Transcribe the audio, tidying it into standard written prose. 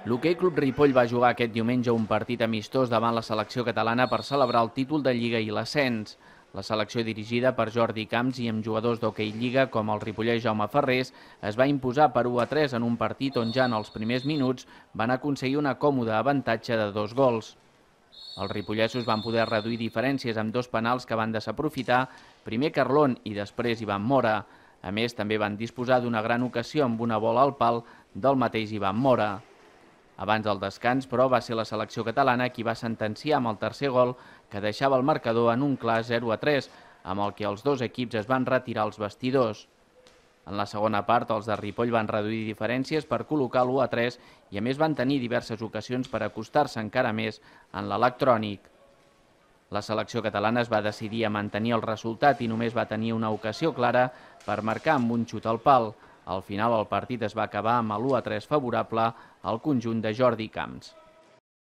L'Hoquei Club Ripoll va jugar aquest diumenge un partit amistós davant la selecció catalana per celebrar el títol de Lliga i l'ascens. La selecció dirigida per Jordi Camps i amb jugadors d'Hoquei Lliga com el ripollès Jaume Ferrés es va imposar per 1-3 en un partit on ja en els primers minuts van aconseguir una còmoda avantatge de 2 gols. Els ripollesos van poder reduir diferències amb 2 penals que van desaprofitar, primer Carlón i després Ivan Mora. A més, també van disposar d'una gran ocasió amb una bola al pal del mateix Ivan Mora. Abans del descans, però, va ser la selecció catalana qui va sentenciar amb el tercer gol que deixava el marcador en un clar 0-3, amb el que els dos equips es van retirar als vestidors. En la segona part, els de Ripoll van reduir diferències per col·locar l'1-3 i a més van tenir diverses ocasions per acostar-se encara més en l'electrònic. La selecció catalana es va decidir a mantenir el resultat i només va tenir una ocasió clara per marcar amb un xut al pal. Al final el partit es va acabar amb l'1-3 favorable al conjunt de Jordi Camps.